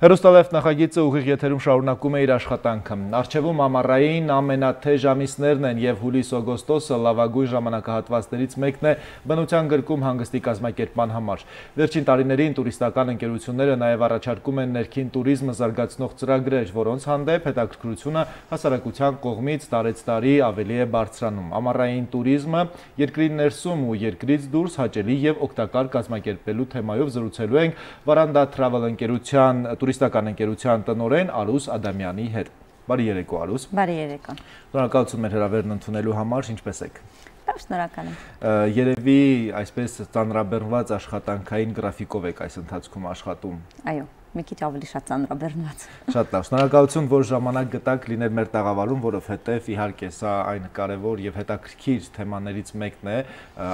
Հեռուստալեյվ նախագիծը ուղիղ եթերում շարունակում է իր աշխատանքը։ Առջևում ամառային ամենաթեժ ամիսներն են և հուլիս-օգոստոսը լավագույն ժամանակահատվածներից մեկն է բնության գրկում հանգստի կազմակերպման համար։ Վերջին տարիներին տուրիստական ընկերությունները նաև առաջարկում են ներքին տուրիզմը զարգացնող ծրագրեր, որոնց հանդեպ հետաքրքրությունը հասարակության կողմից տարեցտարի ավելի է բարձրանում։ Ամառային տուրիզմը երկրի ներսում ու երկրից դուրս հաճելի և օգտակար կազմակերպելու թեմայով զրուցելու ենք Վարանդա Travel ընկերության տուրիստական ընկերության տնօրեն Արուս Ադամյանի հետ։ Բարի երեկո, Արուս։ Բարի երեկո։ Շնորհակալություն մեր հրավերն ընդունելու համար, ինչպես եք։ Լավ, շնորհակալ եմ։ Երևի այսպես ծանրաբեռնված աշխատանքային գրաֆիկով եք այս ընթացքում աշխատում։ Այո, մի քիչ ավելի շատ ծանրաբեռնված։ Շատ լավ, շնորհակալություն, որ ժամանակ գտաք լինել մեր տաղավարում, որովհետև իհարկե սա այն կարևոր եւ հետաքրքիր թեմաներից մեկն է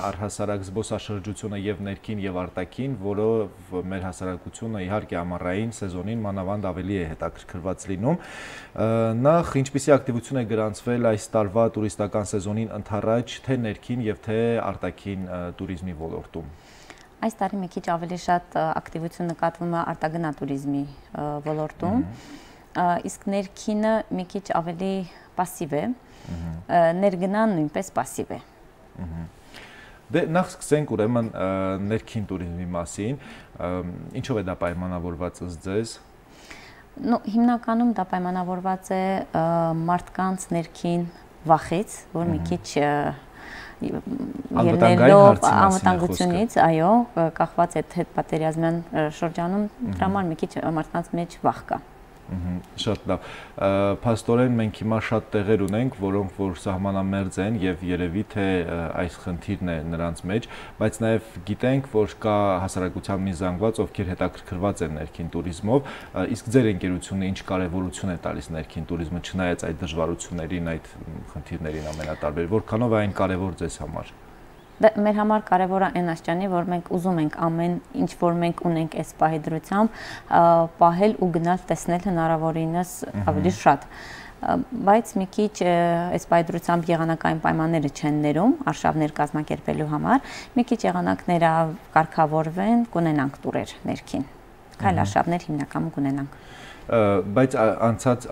առհասարակ զբոսաշրջությունը եւ ներքին եւ արտաքին, որով մեր հասարակությունը իհարկե ամառային սեզոնին մանավանդ ավելի է հետաքրքրված լինում։ Նախ ինչպիսի ակտիվություն է գրանցվել այս տարվա տուրիստական սեզոնին ընդառաջ թե ներքին եւ թե արտաքին տուրիզմի ոլորտում։ Այս տարի մի քիչ ավելի շատ ակտիվություն նկատվում է արտագնա տուրիզմի ոլորտում, իսկ ներքինը մի քիչ ավելի պասիվ է, ներգնան նույնպես պասիվ է։ Դե նախ սկսենք ուրեմն ներքին տուրիզմի մասին, ինչով է դա պայմանավորված ըստ ձեզ։ Հիմնականում դա պայմանավորված է մարդկանց ներքին վախից, որ մի քիչ ելնելով անվտանգությունից, այո, կախված է հետպատերազմյան շրջանում, դրա համար մի քիչ մարդկանց մեջ վախ կա։ Շատ լավ, փաստորեն մենք հիմա շատ տեղեր ունենք, որոնք որ սահմանամերձ են եւ երևի թե այս խնդիրն է նրանց մեջ, բայց նաեւ գիտենք, որ կա հասարակության մի զանգված, ովքեր հետաքրքրված են ներքին տուրիզմով, իսկ ձեր ընկերությունը ինչ կարեւորություն է տալիս ներքին տուրիզմը, չնայած այդ դժվարություններին, այդ խնդիրներին ամենատարբեր, որքանով է այն կարեւոր ձեզ համար։ Մեր համար կարևոր է այն աստիճանի, որ մենք ուզում ենք ամեն ինչ, որ մենք ունենք այս պահի դրությամբ, պահել ու գնալ տեսնել հնարավորինս ավելի շատ։ Բայց մի քիչ այս պահի դրությամբ եղանակային պայմանները չեն ներում արշավներ կազմակերպելու համար, մի քիչ եղանակները կարգավորվեն, կունենանք տուրեր ներքին, քայլ արշավներ հիմնականում կունենանք։ Բայց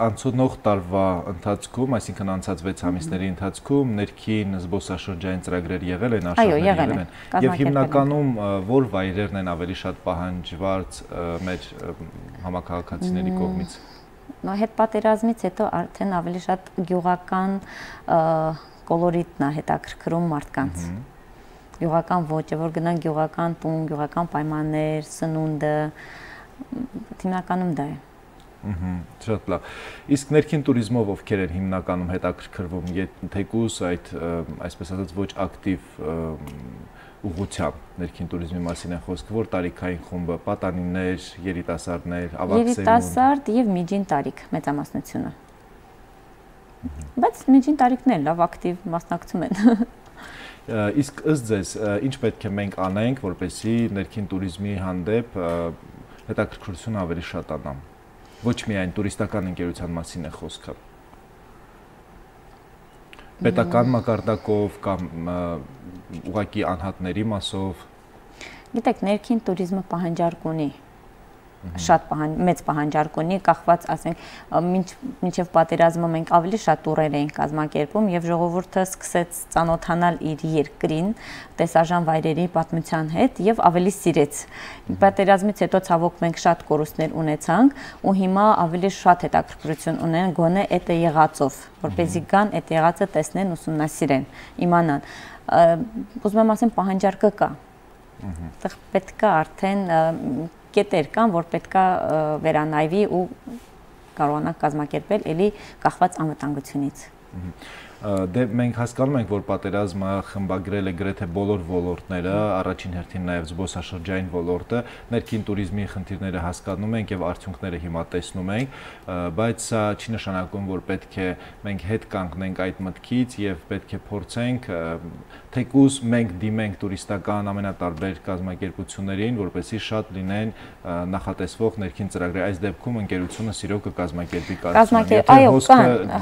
անցնող տարվա ընթացքում, այսինքն անցած 6 ամիսների ընթացքում ներքին զբոսաշրջային ծրագրեր եղել են, արշավներ եղել են։ Եվ հիմնականում որ վայրերն են ավելի շատ պահանջված մեր համաքաղաքացիների կողմից։ Հետպատերազմից հետո արդեն ավելի շատ գյուղական կոլորիտն է հետաքրքրում մարդկանց։ Գյուղական ոճը, որ գնան գյուղական տուն, գյուղական պայմաններ, սնունդը, հիմնականում դա է։ Շատ լավ։ Իսկ ներքին տուրիզմով ովքեր են հիմնականում հետաքրքրվում, թեկուզ այդ այսպես ասած ոչ ակտիվ ուղղությամբ ներքին տուրիզմի մասին է խոսքը, որ տարիքային խումբը, պատանիներ, երիտասարդներ, ավագ սերունդ։ Երիտասարդ եւ միջին տարիք մեծամասնությունը։ Բայց միջին տարիքն էլ լավ ակտիվ մասնակցում են։ Իսկ ըստ ձեզ, ինչ պետք է մենք անենք, որպեսզի ներքին տուրիզմի հանդեպ հետաքրքրությունը ավելի շատանա։ Ոչ միայն տուրիստական ընկերության մասին է խոսքը։ Պետական մակարդակով կամ ուղղակի անհատների մասով։ Գիտեք, ներքին տուրիզմը պահանջարկ ունի, շատ մեծ պահանջարկ ունի, կախված, ասենք, մինչև պատերազմը մենք ավելի շատ տուրեր էինք կազմակերպում եւ ժողովուրդը սկսեց ծանոթանալ իր երկրին, տեսարժան վայրերի պատմության հետ եւ ավելի սիրեց։ Պատերազմից հետո ցավոք մենք շատ կորուստներ ունեցանք ու հիմա ավելի շատ հետաքրքրություն ունեն գոնե այդ եղածով, որպեսզի գան այդ եղածը տեսնեն, ուսումնասիրեն, իմանան։ Ուզում եմ ասեմ, պահանջարկը կա։ Այդտեղ պետք է արդեն կետեր կան, որ պետք է վերանայվի ու կարողանանք կազմակերպել էլի կախված անվտանգությունից։ Դե մենք հասկանում ենք, որ պատերազմը խմբագրել է գրեթե բոլոր ոլորտները, առաջին հերթին նաև զբոսաշրջային ոլորտը, ներքին տուրիզմի խնդիրները հասկանում ենք եւ արդյունքները հիմա տեսնում ենք, բայց սա չի նշանակում, որ պետք է մենք հետ կանգնենք այդ մտքից եւ պետք է փորձենք թեկուզ մենք դիմենք տուրիստական ամենատարբեր կազմակերպություններին, որպեսզի շատ լինեն նախատեսվող ներքին ծրագրեր։ Այս դեպքում ընկերությունը սիրո կկազմակերպի կարծում եմ։ Այո,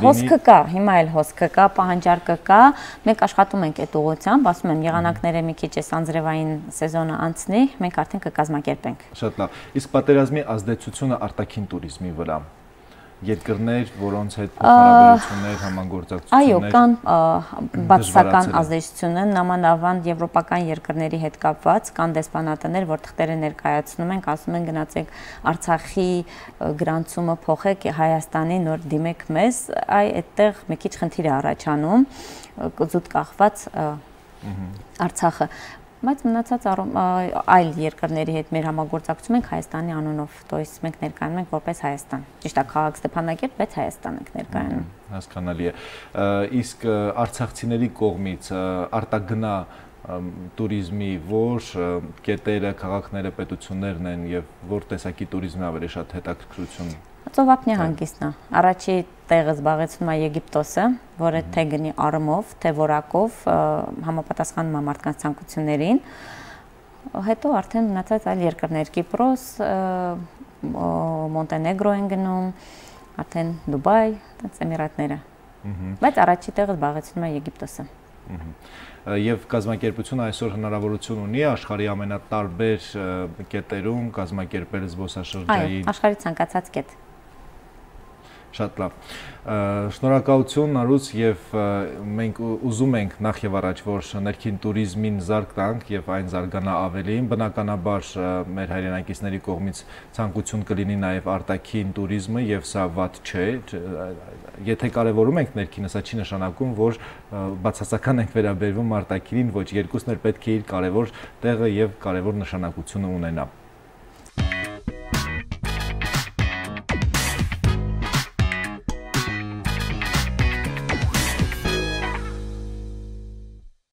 հոսքը կա, հիմա այլ հոսքը կա, պահանջարկը կա, մենք աշխատում ենք այդ ուղղությամբ, ասում եմ, եղանակները մի քիչ էս անձրևային սեզոնը անցնի, մենք արդեն կկազմակերպենք։ Շատ լավ։ Իսկ պատերազմի ազդեցությունը արտաքին туриզմի վրա երկրներ, որոնց հետ հարաբերություններ, համագործակցություններ։ Այո, կան բացասական ազդեցություններ, նամանավանդ եվրոպական երկրների հետ կապված, կան դեսպանատներ, որտեղ տեղը ներկայացնում ենք, ասում են գնացեք Արցախի գրանցումը փոխեք Հայաստանի, նոր դիմեք մեզ, այդտեղ մի քիչ խնդիր է առաջանում, զուտ կախված Արցախը։ Բայց մնացած այլ երկրների հետ մեր համագործակցում ենք Հայաստանի անունով, то есть մենք ներկայանում ենք որպես Հայաստան։ Ճիշտ է, քաղաք Ստեփանակերտ, բայց Հայաստան ենք ներկայանում։ Հասկանալի է։ Իսկ արցախցիների կողմից արտագնա туриզմի որ կետերը, քաղաքները, պետություններն են եւ որ տեսակի туриզմի ավելի շատ հետաքրքրություն։ Ծովափնյա հանգիստն է։ Առաջի տեղը զբաղեցնում է Եգիպտոսը, որը թե գնի առումով, թե որակով համապատասխանում է մարդկանց ցանկություններին։ Հետո արդեն մնացած այլ երկրներ՝ Կիպրոս, Մոնտենեգրո են գնում, արդեն Դուբայ, Էմիրատները։ Բայց առաջի տեղը զբաղեցնում է Եգիպտոսը։ Եվ կազմակերպությունը այսօր հնարավորություն ունի աշխարհի ամենատարբեր կետերում կազմակերպել զբոսաշրջային։ Այո, աշխարհի ցանկացած կետ։ Շատ լավ։ Շնորհակալություն Նարուց եւ մենք ուզում ենք նախ եւ առաջ որ ներքին туриզմին զարգ տանք եւ այն զարգանա ավելին, բնականաբար մեր հայրենակիցների կողմից ցանկություն կլինի նաեւ արտաքին туриզմը եւ սա վատ չէ։ Եթե կարևորում ենք ներքինը, սա չի նշանակում, որ բացասական ենք վերաբերվում արտաքինին, ոչ, երկուսն էլ պետք է իր կարևոր տեղը եւ կարևոր նշանակությունը ունենա։